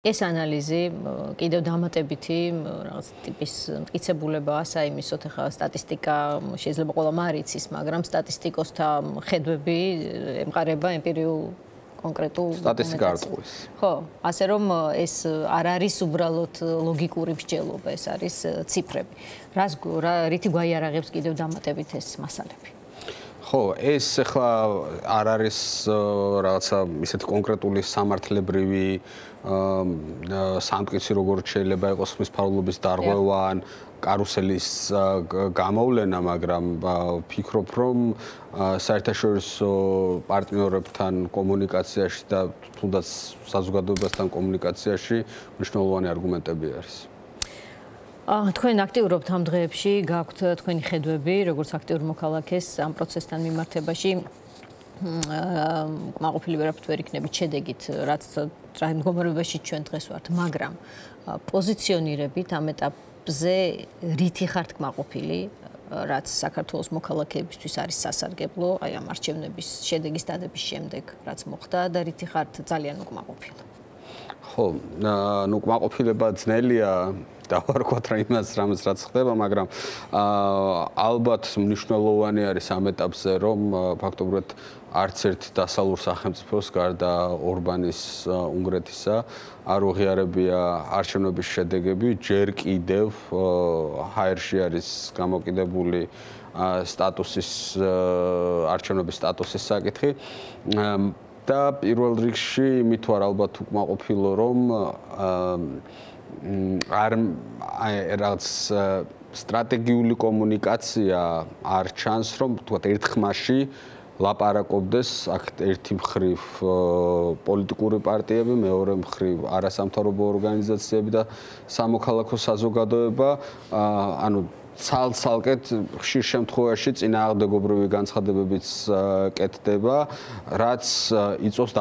ეს ანალიზი კიდევ დამატებითი რაღაც ტიპის მტკიცებულებაა საიმისოთ, ახლა სტატისტიკა შეიძლება ყველამ არ იცის, მაგრამ სტატისტიკოსთა ხედვები ემყარება ემპირიულ კონკრეტულ სტატისტიკა არ ტყუის. ხო, ასე რომ ეს არ არის უბრალოდ ლოგიკური მსჯელობა, ეს არის ციფრები. რითი გვაიარაღებს კიდევ დამატებით ეს მასალები? ხო, ეს ახლა არ არის რაღაცა ისეთი კონკრეტული სამართლებრივი სამტკიცი როგორც შეიძლება იყოს ხმის ფარულობის დარღვევა ან კარუსელის გამოვლენა, მაგრამ ვფიქრობ, რომ საერთაშორისო პარტნიორებთან კომუნიკაციაში და თუნდაც საზოგადოებასთან კომუნიკაციაში მნიშვნელოვანი არგუმენტები არის. თქვენ აქტიურობთ ამ დღეებში, გაქვთ თქვენი ხედვები, როგორც აქტიურ მოქალაქეს ამ პროცესთან მიმართებაში. კმაყოფილი ვერაფრით ვერ იქნებით შედეგით, რაც მდგომარეობაში ჩვენ დღეს ვართ, მაგრამ პოზიციონირებით ამ ეტაპზე რითი ხართ კმაყოფილი, რაც საქართველოს მოქალაქეებისთვის არის სასარგებლო, აი ამ არჩევნების შედეგის დადების შემდეგ, რაც მოხდა და რითი ხართ ძალიან უკმაყოფილი? ხო, კმაყოფილება ძნელია დავარქვათ რა იმას რამაც რაც ხდება, მაგრამ ალბათ მნიშვნელოვანი არის ამ ეტაპზე, რომ ფაქტობრივად არც ერთ დასავლურ სახელმწიფოს გარდა ორბანის უნგრეთისა არ უღიარებია არჩევნების შედეგები, ჯერ კიდევ ჰაერში არის გამოკიდებული სტატუსის არჩევნების სტატუსის საკითხი და პირველ რიგში იმით ვარ ალბათ უკმაყოფილო, რომ არ რაღაც სტრატეგიული კომუნიკაცია არ ჩანს, რომ თქვათ ერთხმაში ლაპარაკობდეს აქ ერთი მხრივ პოლიტიკური პარტიები, მეორე მხრივ არასამთავრობო ორგანიზაციები და სამოქალაქო საზოგადოება, ანუ ცალ-ცალკედ ხშირ შემთხვევაში წინააღმდეგობრივი განცხადებებიც კეთდება, რაც იწვევს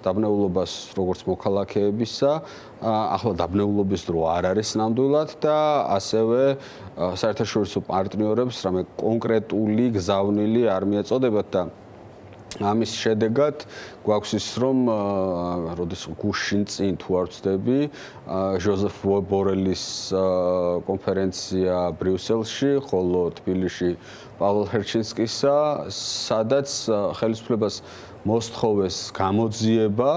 დაბნეულობას როგორც მოქალაქეებისა, ახლა დაბნეულობის დრო არ არის ნამდვილად და ასევე საერთაშორისო პარტნიორებს რამე კონკრეტული გზავნილი არ მიეწოდებათ და ამის შედეგად გვაქვს ის, რომ როდის გუშინ წინ თუ არ ვცდები, ჟოზეფ ბორელის კონფერენცია ბრიუსელში, ხოლო თბილისში პავლო ჰერჩინსკისა, სადაც ხელისუფლებას მოსთხოვეს გამოძიება,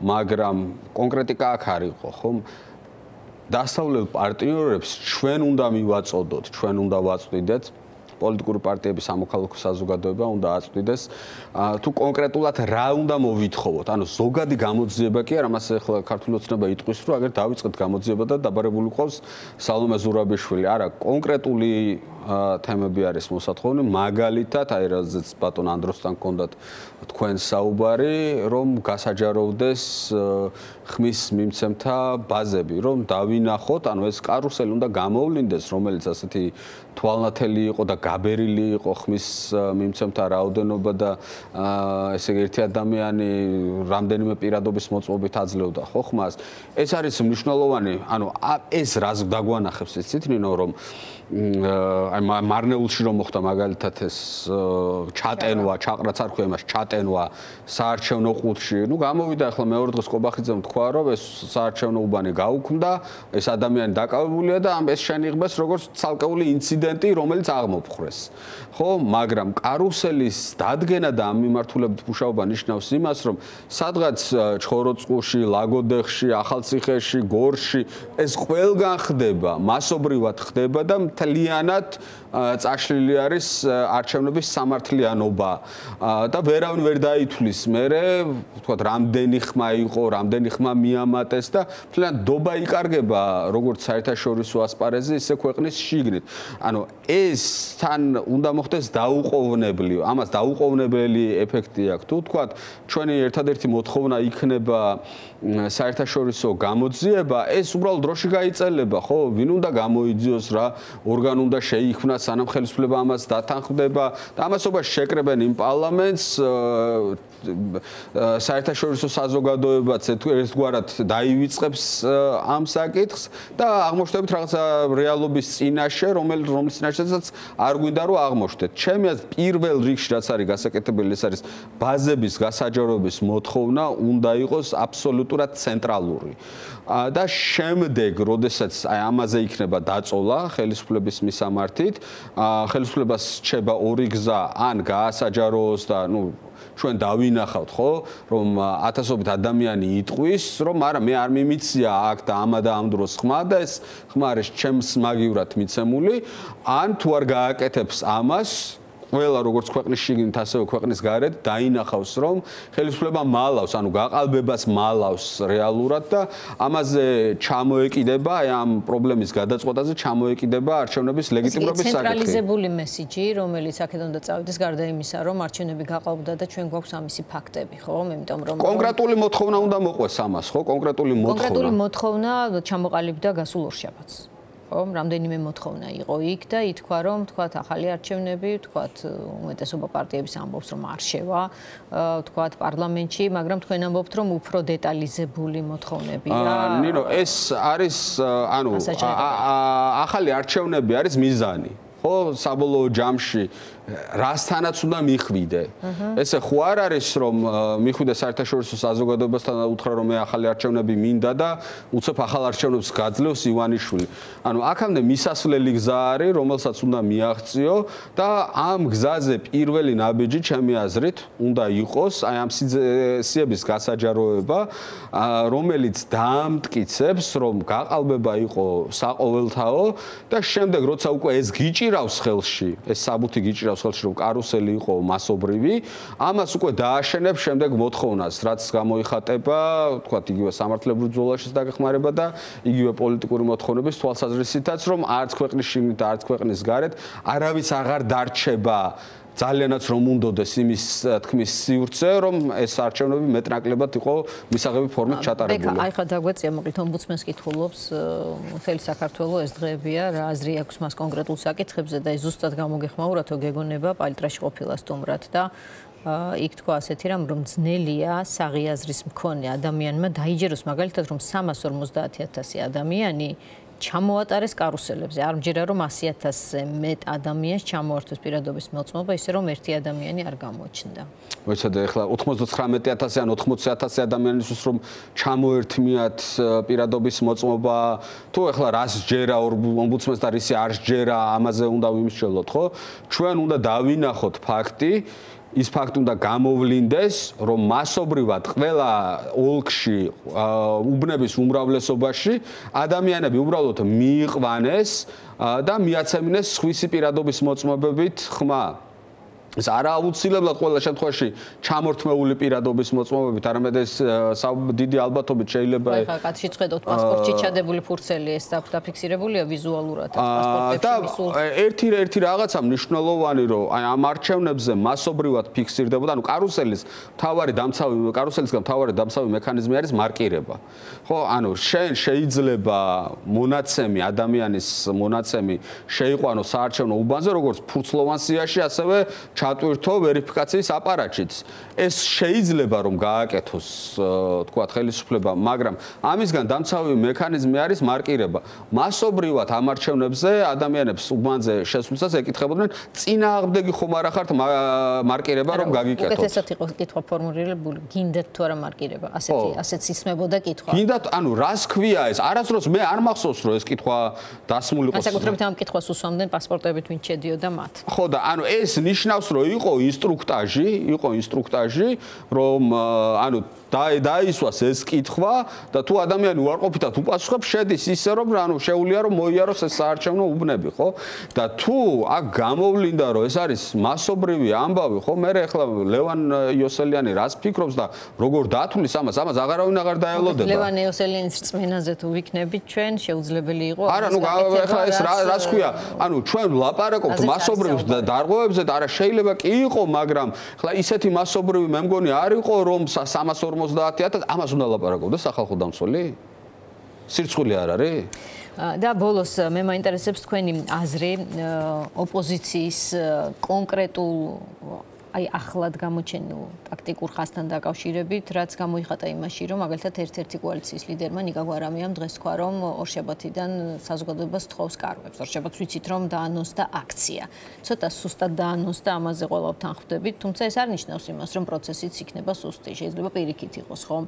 მაგრამ კონკრეტიკა აქ არ იყო, ხომ? დასავლელ პარტნიორებს ჩვენ უნდა მივაწოდოთ, ჩვენ უნდა ვაწვდიდეთ პოლიტიკური პარტიების სამოქალაქო საზოგადოება უნდა აწვდიდეს თუ კონკრეტულად რა უნდა მოვითხოვოთ. ანუ ზოგადი გამოძიება კი არა, მას ახლა ქართული ოცნება იტყვის, რომ აგერ დავიწყეთ გამოძიება და დაბარებული ყავს სალომე ზურაბიშვილი. არა, კონკრეტული თემები არის მოსათხოვნი, მაგალითად, აი რაზეც ბატონ ანდროსთან გქონდათ თქვენ საუბარი, რომ გასაჯაროვდეს ხმის მიმცემთა ბაზები, რომ დავინახოთ, ანუ ეს კარუსელი უნდა გამოვლინდეს, რომელიც ასეთი თვალნათელი იყო და გაბერილი იყო ხმის მიმცემთა რაოდენობა და ესე იგი ერთი ადამიანი რამდენიმე პირადობის მოწმობით აძლევდა ხო ხმას. ეს არის მნიშვნელოვანი, ანუ ეს რას დაგვანახებს იცით ნინო, რომ აი მარნეულში რომ მოხდა მაგალითად ეს ჩატენვა, ჩაყრაც არ ხვია იმას, ჩატენვა საარჩევნო ყუთში. ნუ გამოვიდა ახლა მეორე დღეს კობახიძემ თქვა, რომ ეს საარჩევნო უბანი გაუქმდა, ეს ადამიანი დაკავებულია და ეს შენიღბეს როგორც ცალკეული ინციდენტი, რომელიც აღმოფხვრეს. ხო, მაგრამ კარუსელის დადგენა და ამ მიმართულებით მუშაობა ნიშნავს იმას, რომ სადღაც ჩხოროწყუში, ლაგოდეხში, ახალციხეში, გორში ეს ყველგან ხდება, მასობრივად ხდება და მთლიანად წაშლილი არის არჩევნების სამართლიანობა და ვერავინ ვერ დაითვლის მერე, ვთქვათ, რამდენი ხმა იყო, რამდენი ხმა მიამატეს და მთლიანად დობა იკარგება როგორც საერთაშორისო ასპარეზზე, ისე ქვეყნის შიგნით. ანუ ეს თან უნდა მოხდეს დაუყოვნებლივ, ამას დაუყოვნებელი ეფექტი აქვს. თუ ვთქვათ, ჩვენი ერთადერთი მოთხოვნა იქნება საერთაშორისო გამოძიება, ეს უბრალოდ დროში გაიწელება, ხო? ვინ უნდა გამოიძიოს რა, ორგანო უნდა შეიქმნას, სანამ ხელისუფლება ამას დათანხმდება და ამასობაში შეკრებენ იმ პარლამენტს, საერთაშორისო საზოგადოებაც ერთგვარად დაივიწყებს ამ საკითხს და აღმოჩნდებით რაღაცა რეალობის წინაშე, რომლის წინაშეც არ გვინდა რომ აღმოჩნდეთ. ჩემი აზრით პირველ რიგში რაც არის გასაკეთებელი ეს არის ბაზების გასაჯაროების მოთხოვნა უნდა იყოს აბსოლუტურად ცენტრალური. და შემდეგ, როდესაც აი ამაზე იქნება დაწოლა ხელისუფლების მისამართით, ხელისუფლებას რჩება ორი გზა, ან გაასაჯაროოს და ჩვენ დავინახავთ, ხო, რომ ათასობით ადამიანი იტყვის, რომ არა მე არ მიმიცია აქ და ამა და ამ დროს ხმა და ეს ხმა არის ჩემს მაგივრად მიცემული, ან თუ არ გააკეთებს ამას ყველა როგორც ქვეყნის შიგნით ასევე ქვეყნის გარეთ დაინახავს რომ ხელისუფლება მალავს, ანუ გაყალბებას მალავს რეალურად და ამაზე ჩამოეკიდება, აი ამ პრობლემის გადაწყვეტაზე ჩამოეკიდება არჩევნების ლეგიტიმურობის საკითხი. ცენტრალიზებული მესიჯი, რომელიც აქედან უნდა წავიდეს გარდა იმისა, რომ არჩევნები გაყალბდა და ჩვენ გვაქვს ამისი ფაქტები, ხო? იმიტომ რომ კონკრეტული მოთხოვნა უნდა მოყვეს ამას, ხო? კონკრეტული მოთხოვნა ჩამოყალიბდა გასულ ორშაბათს. რომ რამდენიმე მოთხოვნა იყო იქ და ითქვა რომ თქვათ ახალი არჩევნები, თქვათ უმეტესობა პარტიების ამბობს რომ არ შევა, თქვათ პარლამენტში, მაგრამ თქვენ ამბობთ რომ უფრო დეტალიზებული მოთხოვნებია. ნინო, ეს არის ანუ ახალი არჩევნები არის მიზანი. ხო, საბოლოო ჯამში რასთანაც უნდა მიხვიდე. ესე ხო არ არის რომ მიხვიდე საერთაშორისო საზოგადოებასთან და უთხრა რომ მე ახალი არჩევნები მინდა და უცებ ახალ არჩევნებს გაძლევს ივანიშვილი. ანუ აქამდე მისასვლელი გზა არის, რომელსაც უნდა მიაღწიო და ამ გზაზე პირველი ნაბიჯი ჩემი აზრით უნდა იყოს აი ამ სიების გასაჯაროება, რომელიც დაამტკიცებს რომ გაყალბება იყო საყოველთაო და შემდეგ როცა უკვე ეს გიჭირავს ხელში, ეს საბუთი გიჭირავს ხელში რომ კარუსელი იყო მასობრივი, ამას უკვე დააშენებს შემდეგ მოთხოვნას, რაც გამოიხატება, თქვათ, იგივე სამართლებრივ ბრძოლაშიც დაგეხმარება და იგივე პოლიტიკური მოთხოვნების თვალსაზრისითაც, რომ არც ქვეყნის შიგნით და არც ქვეყნის გარეთ არავის აღარ დარჩება ძალიანაც რომ უნდოდეს იმის თქმის სივრცე, რომ ეს არჩევნები მეტნაკლებად იყო მისაღები ფორმით ჩატარებული. აი ხა დაგვეწია მოკლედ ომბუდსმენს კითხულობს მთელი საქართველოს ეს დღეებია, რა აზრი აქვს მას კონკრეტულ საკითხებზე და ის ზუსტად გამოგეხმაურა თუ გეგონება პალტრაში ყოფილა სტუმრად და იქ თქვა ასეთი რამ რომ ძნელია საღიაზრის მქონე ადამიანმა დაიჯეროს მაგალითად რომ 350,000 ადამიანი ჩამოატარეს კარუსელებზე. არ მჯერა რომ 100,000-ზე მეტ ადამიანს ჩამოართვეს პირადობის მოწმობა, ისე რომ ერთი ადამიანი არ გამოჩნდა. მოიცადე ახლა 99,000 ან 80,000 ადამიანისთვის რომ ჩამოერთმიათ პირადობის მოწმობა, თუ ახლა რას ჯერა ომბუდსმენს და რისი არ ჯერა, ამაზე უნდა ვიმსჯელოთ, ხო? ჩვენ უნდა დავინახოთ ფაქტი, ის ფაქტი უნდა გამოვლინდეს, რომ მასობრივად ყველა ოლქში უბნების უმრავლესობაში ადამიანები უბრალოდ მიიყვანეს და მიაცემინეს სხვისი პირადობის მოწმობებით ხმა. ეს არა აუცილებლად ყველა შემთხვევაში ჩამორთმეული პირადობის მოწმობებით, არამედ ეს დიდი ალბათობით შეიძლება ხა კაცი ხედავთ პასპორტში ჩადებული ფურცელი ეს დაფიქსირებულია ვიზუალურად პასპორტებში მისულ ერთი რაღაცა მნიშვნელოვანი რომ აი ამ არჩევნებზე მასობრივად ფიქსირდებოდა, ანუ კარუსელისგან მთავარი დამცავი მექანიზმი არის მარკირება. ხო, ანუ შენ შეიძლება მონაცემი ადამიანის მონაცემი შეიყვანო საარჩევნო უბანზე როგორც ფურცლოვან სიაში, ასევე ჩატვირთო ვერიფიკაციის აპარატშიც. ეს შეიძლება რომ გააკეთოს, თქვათ, ხელისუფლება, მაგრამ ამისგან დამცავი მექანიზმი არის მარკირება. მასობრივად ამ არჩევნებზე ადამიანებს უბანზე შესვლისას ეკითხებოდნენ, წინააღმდეგი ხომ არ ახართ მარკირება რომ გაგიკეთოთ. უკეთესად იყო კითხვა ფორმულირებული, გინდათ თუ არა მარკირება. ასეც ისმებოდა კითხვა. გინდათ, ანუ რას ქვია ეს? არასდროს მე არ მახსოვს რომ ეს კითხვა დასმული ყოს. განსაკუთრებით ამ კითხვას უსვამდნენ პასპორტებით ვინ შედიოდა მათ. ხო და ანუ ეს ნიშნავს რომ იყო ინსტრუქტაჟი, რომ ანუ დაისვას ეს კითხვა და თუ ადამიანი უარყოფითად უპასუხებს, შედის ისე რომ ანუ შეუძლია რომ მოიაროს ეს საარჩევნო უბნები, ხო? და თუ აქ გამოვლინდა რომ ეს არის მასობრივი ამბავი, ხო? მე ახლა ლევან იოსელიანი რას ფიქრობს და როგორ დათulis ამას აღარავინ აღარ დაელოდება. ლევან იოსელიანის რწმენაზე თუ ვიქნებით ჩვენ, შეუძლებელი იყო. არა, ახლა ეს რას ქვია? ანუ ჩვენ ვლაპარაკობთ მასობრივ დარღვევებზე და არა შეიძლება კი იყო, მაგრამ ახლა ისეთი მასობრივი მე მგონი არ იყო რომ 350,000 ამას უნდა ლაპარაკობდეს სახალხო დამცველი? სირცხვილი არ არის? და ბოლოს მე მაინტერესებს თქვენი აზრი ოპოზიციის კონკრეტულ აი ახლად გამოჩენილ ტაქტიკურ ხასთან დაკავშირებით, რაც გამოიხატა იმაში, რომ მაგალითად ერთ-ერთი კოალიციის ლიდერმა ნიკა გვარამიამ დღეს თქვა, რომ ორშაბათიდან საზოგადოებას თხოვს კარგვებს. ორშაბათს ვიცით, რომ დაანონსდა აქცია. ცოტა სუსტად დაანონსდა, ამაზე ყველა ვთანხმდებით, თუმცა ეს არ ნიშნავს იმას, რომ პროცესიც იქნება სუსტი. შეიძლება პირიქით იყოს, ხომ?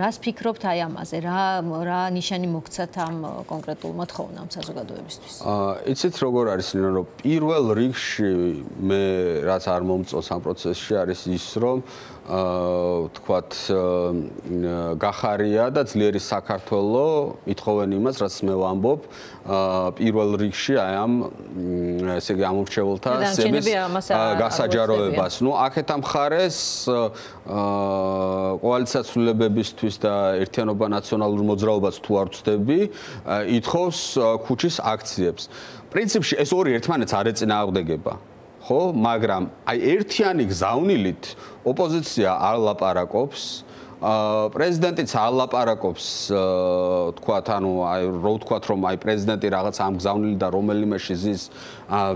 რას ფიქრობთ აი ამაზე? რა ნიშანი მოგცათ ამ კონკრეტულმა თხოვნამ საზოგადოებისთვის? იცით როგორ არის, რომ პირველ რიგში მე რაც არ მომწონს ამ პროცესში არის ის, რომ თქვათ გახარია და ძლიერი საქართველო ითხოვენ იმას, რაც მე ვამბობ, პირველ რიგში აი ამ ესე იგი ამორჩეულთა სების გასაჯაროებას. ნუ აქეთ ამ მხარეს კოალიციას ცვლილებებისთვის და ერთიანობა ნაციონალურ მოძრაობას თუ არ ვწდები, ითხოვს ქუჩის აქციებს. პრინციპში ეს ორი ერთმანეთს არ ეწინააღმდეგება. ხო, მაგრამ აი ერთიანი გზავნილით ოპოზიცია არ ლაპარაკობს, პრეზიდენტიც არ ლაპარაკობს, თქვათ, ანუ აი რო ვთქვათ, რომ აი პრეზიდენტი რაღაც ამ გზავნილი და რომელიმე შიზის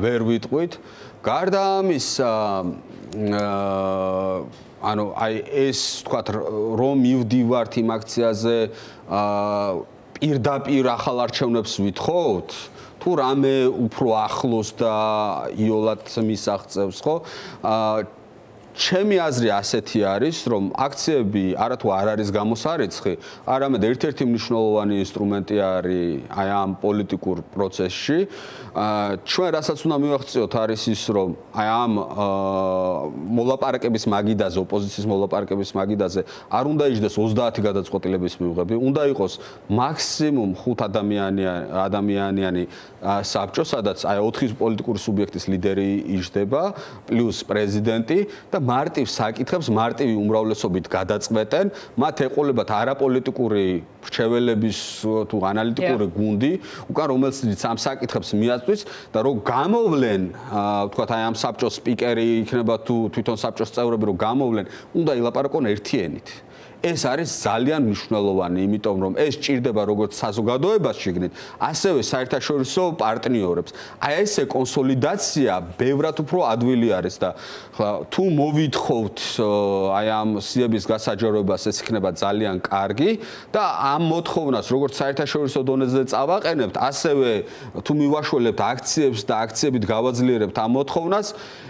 ვერ ვიტყვით. გარდა ამისა, ანუ აი ეს თქვათ, რომ მივდივართ იმ აქციაზე, პირდაპირ ახალ არჩევნებს ვითხოვთ, თუ რამე უფრო ახლოს და იოლად მისაღწევს, ხო? ჩემი აზრი ასეთი არის, რომ აქციები არათუ არ არის გამოსარიცხი, არამედ ერთ-ერთი მნიშვნელოვანი ინსტრუმენტი არის აი ამ პოლიტიკურ პროცესში. ჩვენ რასაც უნდა მივახციოთ არის ის, რომ აი ამ მოლაპარაკების მაგიდაზე, ოპოზიციის მოლაპარაკების მაგიდაზე არ უნდა იჯდეს 30 გადაწყვეტილების მიღები, უნდა იყოს მაქსიმუმ 5 ადამიანიანი საბჭო, სადაც აი 4 პოლიტიკური სუბიექტის ლიდერი იჯდება, პლუს პრეზიდენტი და მარტივ საკითხებს მარტივი უმრავლესობით გადაწყვეტენ, მათ ეყოლებათ არაპოლიტიკური რჩეველების თუ ანალიტიკური გუნდი, უკან რომელსაც ამ საკითხებს მიაწვის და რომ გამოვლენ, ვთქვათ, აი ამ საბჭოს სპიკერი იქნება თუ თვითონ საბჭოს წევრები რომ გამოვლენ, უნდა ილაპარაკონ ერთი ენით. ეს არის ძალიან მნიშვნელოვანი, იმიტომ რომ ეს ჭირდება როგორც საზოგადოებას შიგნით, ასევე საერთაშორისო პარტნიორებს. აი ესე კონსოლიდაცია ბევრად უფრო ადვილი არის და თუ მოვითხოვთ აი ამ სიების გასაჯაროებას, ეს იქნება ძალიან კარგი და ამ მოთხოვნას როგორც საერთაშორისო დონეზე წავაყენებთ, ასევე თუ მივაშველებთ აქციებს და აქციებით გავაძლიერებთ ამ მოთხოვნას,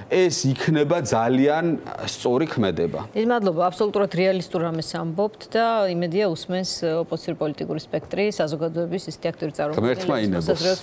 ეს იქნება ძალიან სწორი ქმედება. დიდი მადლობა, აბსოლუტურად რეალისტურ რამეს ამბობთ და იმედია უსმენს ოპოზიციური პოლიტიკური სპექტრი საზოგადოების ისეთი აქტიური წარმომადგენლების.